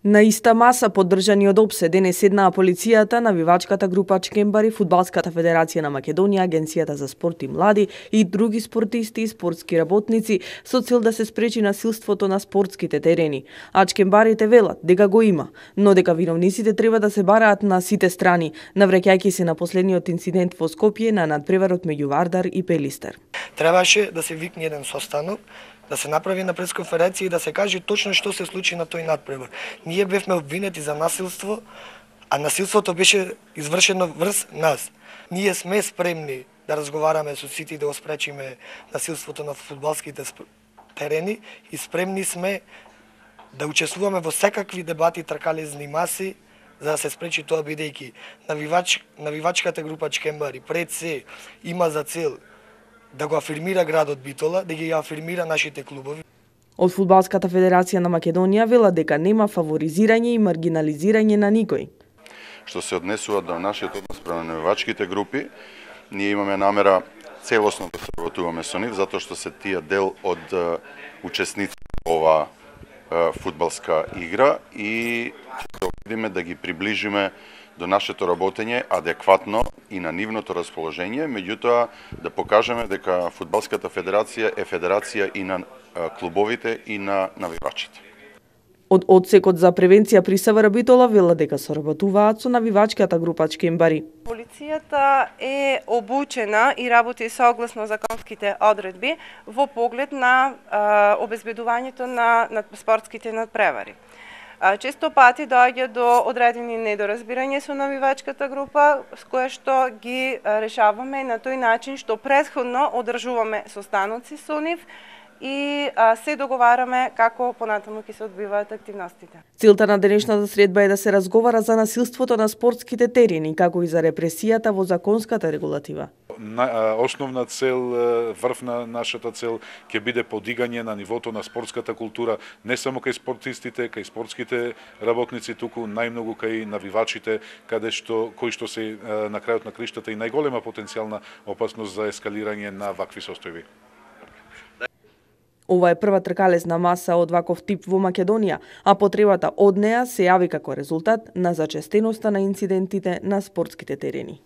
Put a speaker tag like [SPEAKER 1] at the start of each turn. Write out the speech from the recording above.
[SPEAKER 1] На иста маса, поддржани од ОПСЕ, денес седнаа полицијата, навивачката група Чкембари, Фудбалската федерација на Македонија, Агенцијата за спорт и млади и други спортисти и спортски работници со цел да се спречи насилството на спортските терени. А чкембарите велат дека го има, но дека виновниците треба да се бараат на сите страни, навраќајќи се на последниот инцидент во Скопје на надпреварот меѓу Вардар и Пелистер.
[SPEAKER 2] Требаше да се викне еден состанок, да се направи на пресконференција и да се каже точно што се случи на тој надпревар. Ние бевме обвинети за насилство, а насилството беше извршено врз нас. Ние сме спремни да разговараме со сите и да го спречиме насилството на фудбалските терени и спремни сме да учествуваме во секакви дебати, тркалезни маси, за да се спречи тоа, бидејќи навивачката група Чкембари пред се има за цел да го афирмира градот Битола, да ги афирмира нашите клубови.
[SPEAKER 1] Од Фудбалската федерација на Македонија вела дека нема фаворизирање и маргинализирање на никој.
[SPEAKER 3] Што се однесува до нашиот однос према навивачките групи, ние имаме намера целосно да соработуваме со нив, затоа што се тие дел од учесници во ова фудбалска игра и ќе се обидиме да ги приближиме до нашето работење адекватно и на нивното расположение, меѓутоа да покажеме дека Фудбалската федерација е федерација и на клубовите и на навивачите.
[SPEAKER 1] Од одсекот за превенција при СВР Битола вела дека соработуваат со навивачката група Чкембари.
[SPEAKER 4] Полицијата е обучена и работи согласно законските одредби во поглед на обезбедувањето на спортските надпревари. Често пати доаѓа до одредени недоразбирање со навивачката група, с кое што ги решаваме на тој начин што претходно одржуваме состаноци со нив и се договараме како понатаму ќе се одбиваат активностите.
[SPEAKER 1] Целта на денешната средба е да се разговара за насилството на спортските терени, како и за репресијата во законската регулатива.
[SPEAKER 5] Основна цел, врв на нашата цел ќе биде подигање на нивото на спортската култура, не само кај спортистите, кај спортските работници, туку најмногу кај навивачите, кои што се на крајот на криштата и најголема потенцијална опасност за ескалирање на вакви состојби.
[SPEAKER 1] Ова е прва тркалезна маса од ваков тип во Македонија, а потребата од неа се јави како резултат на зачестеноста на инцидентите на спортските терени.